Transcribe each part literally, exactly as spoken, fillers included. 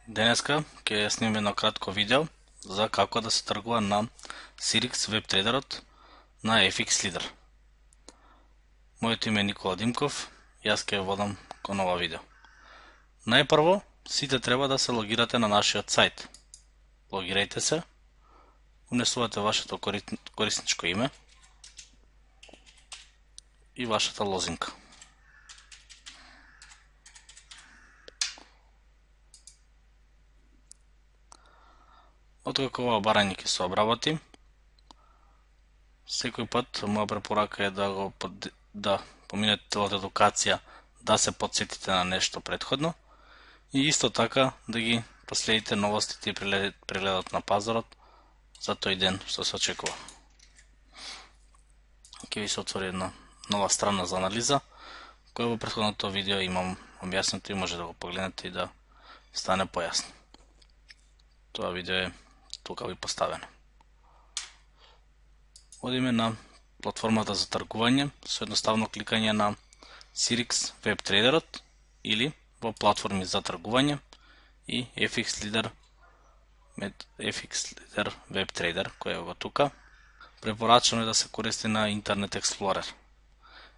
Денеска ќе снимаме едно кратко видео за како да се тргува на Sirix WebTrader-от на F X Leader. Моето име е Никола Димков, јас ќе водам кон ова видео. Најпрво, сите треба да се логирате на нашиот сајт. Логирајте се, унесувате вашето корисничко име и вашата лозинка. Откако ова барање ќе се обработи, секој пат моја препорака е да го да поминете целата едукација, да се потсетите на нешто претходно и исто така да ги последите новостите и прегледот на пазарот за тој ден што се очекува. Ќе ви се отвори една нова страна за анализа, која во претходното видео имам објаснето и може да го погледнете и да стане појасно. Тоа видео е тука ви поставено. Одиме на платформата за тргување со едноставно кликање на Sirix WebTrader-от или во платформи за тргување и F X Leader F X Leader WebTrader кој е го тука. Препорачано е да се користи на Internet Explorer.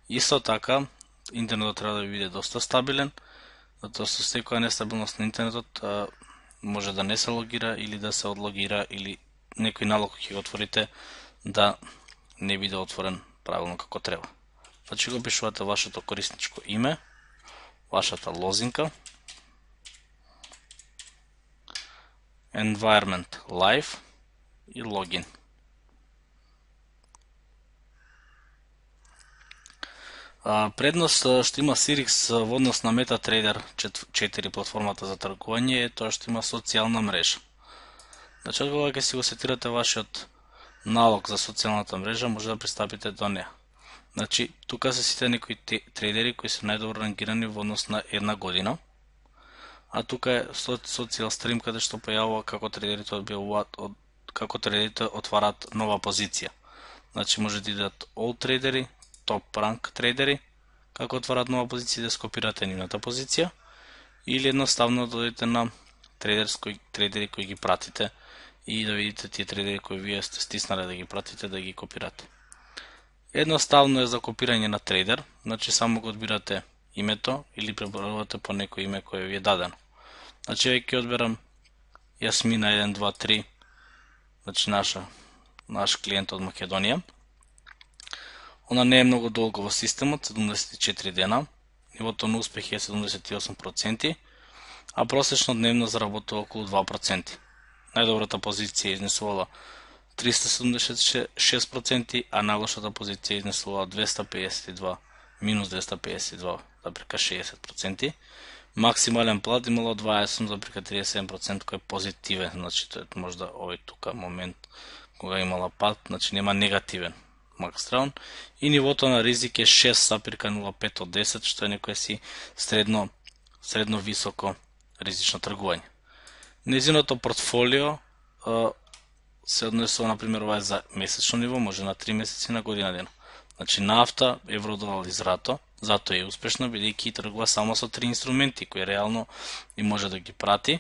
Исто така, интернетот треба да ви биде доста стабилен, затоа со секоја нестабилност на интернетот може да не се логира или да се одлогира или некој налог ќе го отворите да не биде отворен правилно како треба. Значи го пишувате вашето корисничко име, вашата лозинка, environment live и логин. Предност што има Sirix во однос на MetaTrader четири платформата за тргување е тоа што има социјална мрежа. Значи, кога ќе си го сетирате вашиот налог за социјалната мрежа, може да пристапите до неа. Значи, тука се сите некои трейдери кои се најдобро рангирани во однос на една година, а тука е Social Stream каде што појавува како трейдерите одбиваат од како трейдерите отварат нова позиција. Значи, може да идат all трейдери, топ ранк трейдери, како отварат нова позиција да скопирате нивната позиција, или едноставно да додите на трейдерски трейдери кои ги пратите и да видите тие трейдери кои вие сте стиснали да ги пратите, да ги копирате. Едноставно е за копирање на трейдер, значи само го одбирате името или пребројувате по некој име кое ви е дадено. Значи веќе ќе одберам Јасмина еден два три, значи наша наш клиент од Македонија. Она не е многу долго во системот, седумдесет и четири дена, нивото на успех е седумдесет и осум проценти, а просечно дневно заработува околу два проценти. Најдобрата позиција изнесувала триста седумдесет и шест проценти, а најлошата позиција изнесувала двеста пеесет и два, минус двеста пеесет и два запрека шеесет проценти. Максимален плат имало дваесет и осум запрека триесет и седум проценти кој е позитивен, значи тоа е можда овој тука момент кога имала пат, значи нема негативен максраун, и нивото на ризик е шест запрека нула пет од десет, што е некој си средно средно високо ризично тргување. Незиното портфолио а, се однесува, например, ова е за месечно ниво, може на три месеци, на година дена. Значи нафта, евро-долар и злато, затоа е успешно, бидејќи тргува само со три инструменти, кои реално и може да ги прати,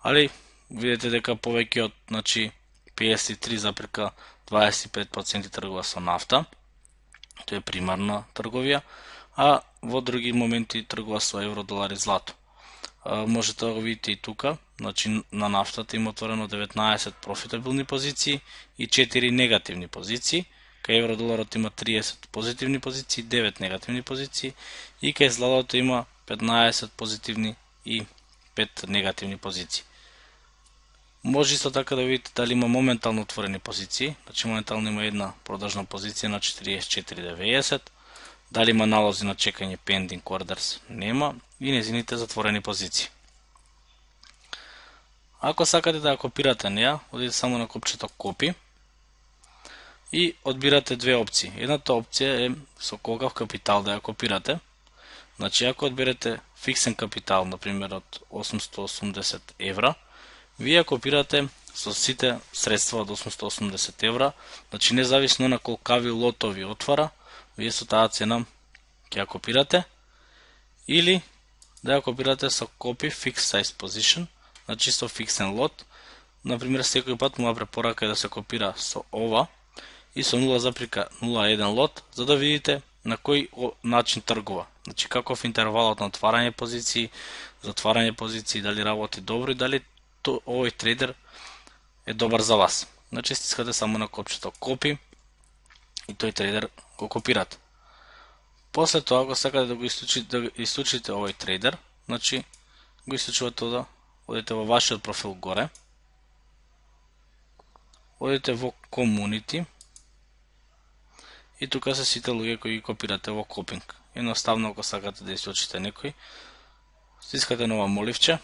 али видите дека повеќе од, значи, пеесет и три запрека дваесет и пет проценти тргува со нафта, тоа е примарна трговија, а во други моменти тргува со евро, долар и злато. А, можете да го видите и тука, значи на нафтата има отворено деветнаесет профитабилни позиции и четири негативни позиции, кај евро доларот има триесет позитивни позиции, девет негативни позиции и кај златото има петнаесет позитивни и пет негативни позиции. Може исто така да видите дали има моментално отворени позиции, значи моментално има една продажна позиција на четириесет и четири деветдесет, дали има налози на чекање pending orders, нема, и незините затворени позиции. Ако сакате да ја копирате неа, одите само на копчето копи и одбирате две опции. Едната опција е со колкав капитал да ја копирате. Значи ако одберете фиксен капитал, например од осумстотини и осумдесет евра, вие копирате со сите средства од осумстотини и осумдесет евра, значи независно на колкави лотови отвара, вие со таа цена ќе ја копирате, или да ја копирате со Copy Fixed Size Position, значи со фиксен лот. Например, секој пат моја препорака е да се копира со ова и со нула запирка нула еден лот, за да видите на кој начин тргува. Значи каков интервалот на отварање позиции, затварање позиции, дали работи добро и дали то, овој трейдер е добар за вас. Значи стискате само на копчето копи и тој трейдер го копирате. После тоа, ако сакате да го исклучите, да исклучите овој трейдер, значи го исклучувате да одите во вашиот профил горе, одите во Community и тука се сите луѓе кои ги копирате во копинг. Едноставно, ако сакате да исклучите некој, стискате на ова моливче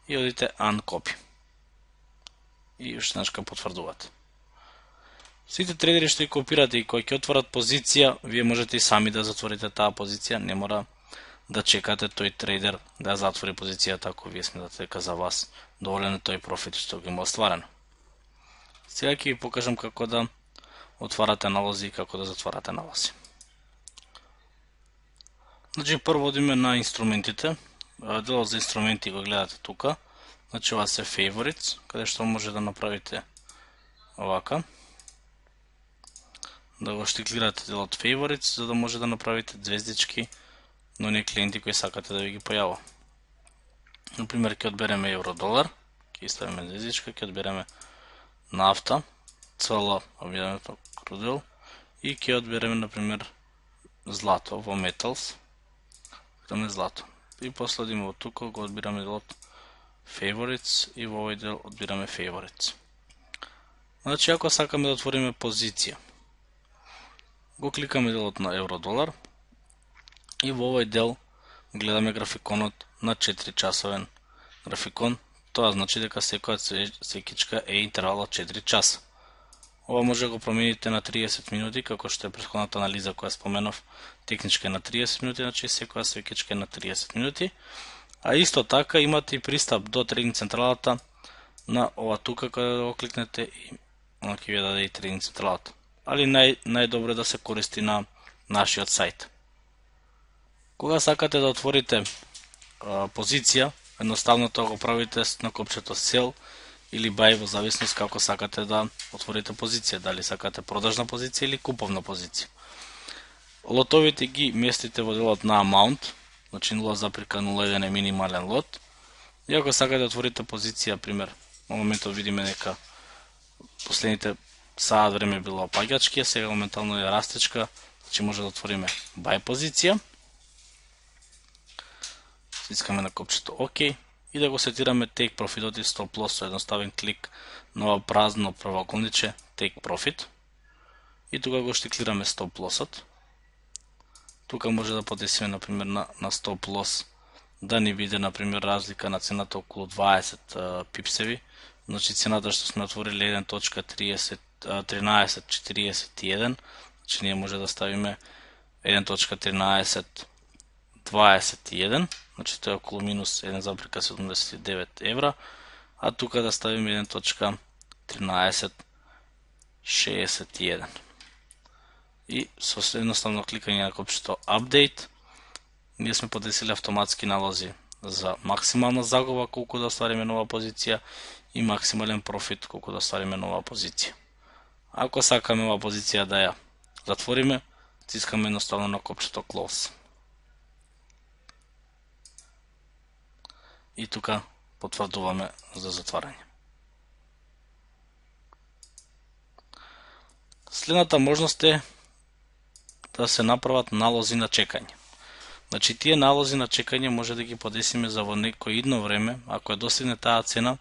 и одите Uncopy. И уште еднаш потврдувате. Сите трейдери што ги копирате и кои ќе отворат позиција, вие можете и сами да затворите таа позиција, не мора да чекате тој трейдер да затвори позицијата ако вие сметате дека за вас доволен е тој профит што ги има остварено. Сега ќе ви покажам како да отварате налози и како да затварате налози. Значи прво одиме на инструментите. Делот за инструменти го гледате тука. Значи ова се favorites, каде што може да направите овака. Да го штиклирате делот favorites, за да може да направите звездички на оние клиенти кои сакате да ви ги појава. Например, ќе одбереме евро-долар, ќе ставиме звездичка, ќе одбереме нафта, цела објавено крудел и ќе одбереме, например, злато во metals, тоа злато. И после одиме во тука, го одбираме делот favorites и во овој дел одбираме favorites. Значи, ако сакаме да отвориме позиција, го кликаме делот на евро-долар и во овој дел гледаме графиконот на четири часовен графикон. Тоа значи дека секоја секичка е интервал од четири часа. Ова може да го промените на триесет минути, како што е претходната анализа која споменав, техничка е на триесет минути, значи секоја свекичка е на триесет минути. А исто така имате и пристап до трейдинг централата на ова тука, каде да го кликнете и ќе ви даде и трейдинг централата. Али нај, најдобро е да се користи на нашиот сајт. Кога сакате да отворите а, позиција, едноставно тоа го правите на копчето Sell или Buy во зависност како сакате да отворите позиција, дали сакате продажна позиција или куповна позиција. Лотовите ги местите во делот на Amount, значи нула запирка нула еден е минимален лот. И ако сакате да отворите позиција, пример, во моментот видиме дека последните саат време било опаѓачки, сега моментално е растечка, значи може да отвориме Buy позиција. Стискаме на копчето ОК и да го сетираме Take Profit и Stop Loss со едноставен клик на ова празно правоаголниче Take Profit. И тука го штиклираме Stop Loss-от. Тука може да подесиме, например, на, на Stop Loss да ни биде, например, разлика на цената околу дваесет а, пипсеви. Значи цената што сме отворили еден точка тринаесет четириесет и еден, значи ние може да ставиме еден точка тринаесет дваесет и еден, значи тоа е околу минус еден запирка седумдесет и девет евра, а тука да ставиме еден точка тринаесет шеесет и еден. И со едноставно кликање на копчето Update, ние сме подесили автоматски налози за максимална загуба колку да оствариме нова позиција и максимален профит колку да оствариме нова позиција. Ако сакаме оваа позиција да ја затвориме, стискаме едноставно на копчето Close. И тука потврдуваме за затварање. Следната можност е да се направат налози на чекање. Значи, тие налози на чекање може да ги подесиме за во некој идно време, ако е достигне таа цена,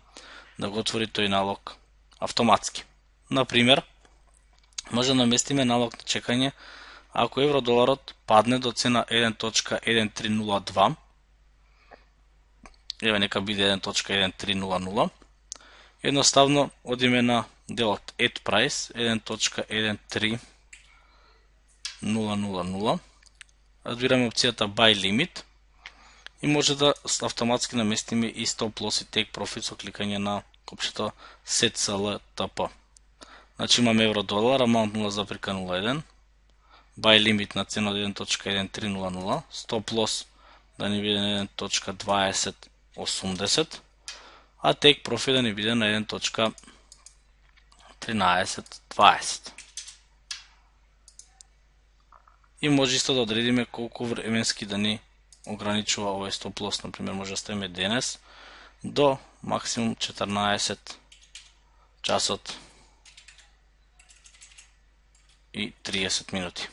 да го отвори тој налог автоматски. Например, може да наместиме налог на чекање ако евро-доларот падне до цена еден точка еден три нула два, еве нека биде еден точка еден три нула нула, едноставно одиме на делот Add Price еден точка еден три нула нула нула, одбираме опцијата Buy Limit и може да автоматски наместиме и Stop Loss и Take Profit со кликање на копчето Set Sell T P. Значи имаме евро-долар, amount нула запирка нула еден, Buy Limit на цена од еден точка еден три нула нула, Stop Loss да ни биде еден точка дваесет осумдесет, а take profit да ни биде на еден точка тринаесет дваесет. И може исто да одредиме колку временски да ни ограничува овој стоп лос, например, може да ставиме денес до максимум четрнаесет часот и триесет минути.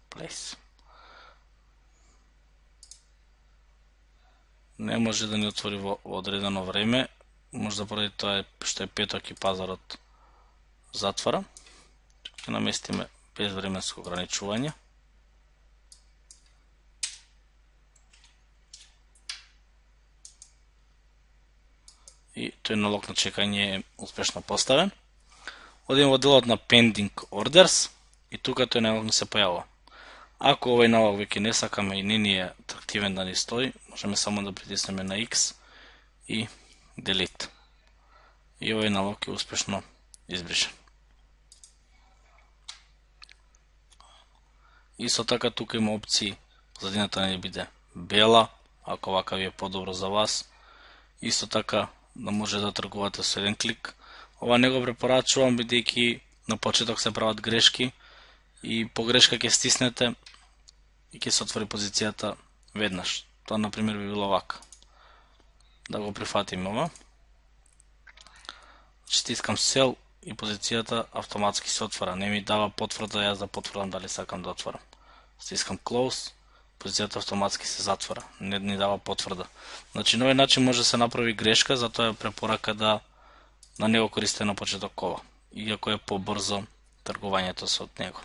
Place. Не може да ни отвори во одредено време, може да поради тоа што е петок и пазарот затвора. Ќе наместиме безвременско ограничување. И тој налог на чекање е успешно поставен. Одиме во делот на pending orders и тука тој налог не се појавува. Ако овој налог веќе не сакаме и не ни е атрактивен да ни стои, можеме само да притиснеме на X и delete. И овој налог е успешно избришен. Исто така тука има опции позадината да не биде бела, ако вака ви е подобро за вас. Исто така да може да тргувате со еден клик. Ова не го препорачувам бидејќи на почеток се прават грешки и по грешка ќе стиснете и ќе се отвори позицијата веднаш. Тоа на пример би било вака. Да го прифатиме ова. Стискам сел и позицијата автоматски се отвора. Не ми дава потврда јас да потврдам дали сакам да отворам. Стискам close, позицијата автоматски се затвора. Не ни дава потврда. Значи на овој начин може да се направи грешка, затоа е препорака да на него користите на почеток ова, иако е побрзо тргувањето со него.